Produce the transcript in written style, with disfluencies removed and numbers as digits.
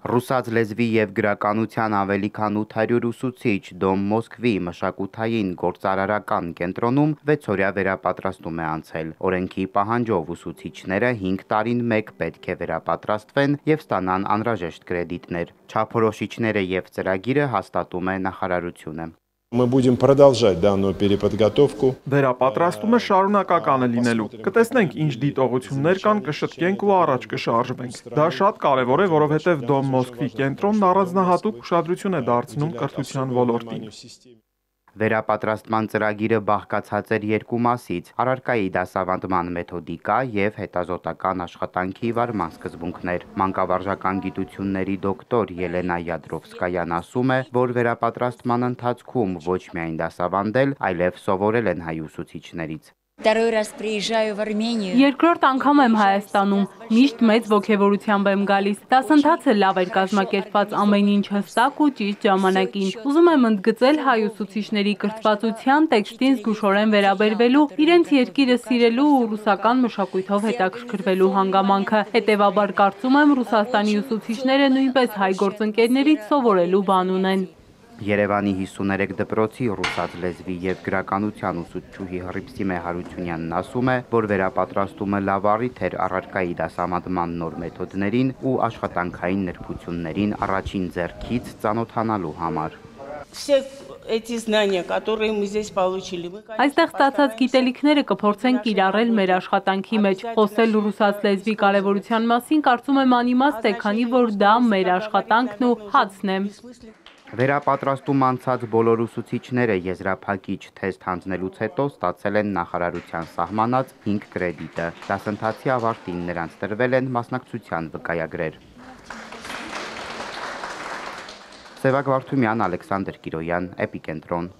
Ռուսաց լեզվի և գրականության ավելի քան 800 ուսուցիչ Դոմ Մոսկվի մշակութային գործարարական կենտրոնում 6-օրյա վերապատրաստում է անցել։ Օրենքի պահանջով ուսուցիչները 5 տարին մեկ պետք է վերապատրաստվեն և ստանան անհրաժեշտ կրեդիտներ։ Չափորոշիչները և ծրագիրը հաստատում է նախարարությունը։ Мы будем продолжать данную переподготовку. Վերապատրաստումը շարունակական է լինելու։ Կտեսնենք ինչ դիտողություններ կան, կշտկենք ու առաջ կշարժվենք։ Դա շատ կարևոր է, որովհետև Դոմ Մոսկվի կենտրոնն առանձնահատուկ ուշադրություն է դարձնում կրթության ոլորտին։ Վերապատրաստման ծրագիրը բաղկացած էր 2 մասից՝ առարկայի դասավանդման մեթոդիկա և հետազոտական աշխատանքի վարման սկզբունքներ։ Մանկավարժական գիտությունների դոկտոր Ելենա Յադրովսկայան ասում է, որ վերապատրաստման ընթացքում ոչ միայն դասավանդել, այլև սովորել են հայ ուսուցիչներից։ Երկրորդ անգամ եմ Հայաստանում, միշտ մեծ ոգևորությամբ եմ գալիս։ Դասընթացը լավ էր կազմակերպված, ամեն ինչ հստակ ու ճիշտ ժամանակին։ Ուզում եմ ընդգծել հայ ուսուցիչների կրթվածության, տեքստին զգուշորեն վերաբերվելու, իրենց երկիրը սիրելու ու ռուսական մշակույթով հետաքրքրվելու հանգամանքը։ Հետևաբար կարծում եմ Ռուսաստանի ուսուցիչները նույնպես հայ գործընկերներից սովորելու բան ունեն։ Երևանի 53 դպրոցի ռուսաց լեզվի և գրականության ուսուցչուհի Հռիփսիմե Հարությունյանն ասում է, որ վերապատրաստումը լավ առիթ էր առարկայի դասավանդման նոր մեթոդներին ու աշխատանքային նրբություններին առաջին ձեռքից ծանոթանալու համար։ Այստեղ ստացած գիտելիքները կփորձենք կիրառել մեր աշխատանքի մեջ։ Խոսել ռուսաց լեզվի կարևորության մասին կարծում եմ անիմաստ է, քանի որ դա մեր աշխատանքն ու հացն է։ Վերապատրաստում անցած բոլոր ուսուցիչները եզրափակիչ թեստ հանձնելուց հետո ստացել են նախարարության սահմանած 5 կրեդիտը։ Դասընթացի ավարտին նրանց տրվել են մասնակցության վկայագրեր։ Սևակ Վարդումյան, Ալեքսանդր Կիրոյան, Էպիկենտրոն։